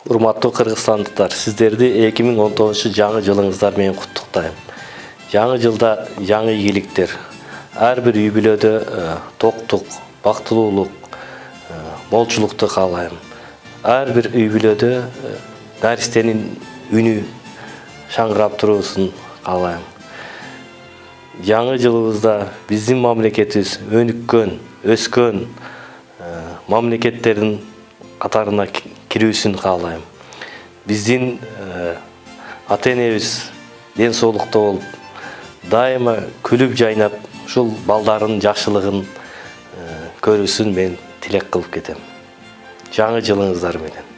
Урматтуу кыргызстандыктар, сиздерди 2019 жаңы жылыңыздар менен куттуктайм. Жаңы жылда жаңы ийгиликтер, ар бир үй бүлөдө токтук, бактылуулук, молчулукту каалайм. Ар бир үй бүлөдө наристенин үнү шаңгырап туруусун каалайм. Жаңы жылыбызда биздин мамлекетибиз өнүккөн, өскөн мамлекеттердин катарына кирүүсүн каалайм. Биздин ата-энебиз ден соолукта болуп, дайыма күлүп жайнап, ушул балдардын жакшылыгын көрүүсүн мен тилек кылып кетем. Жаңы жылыңыздар менен.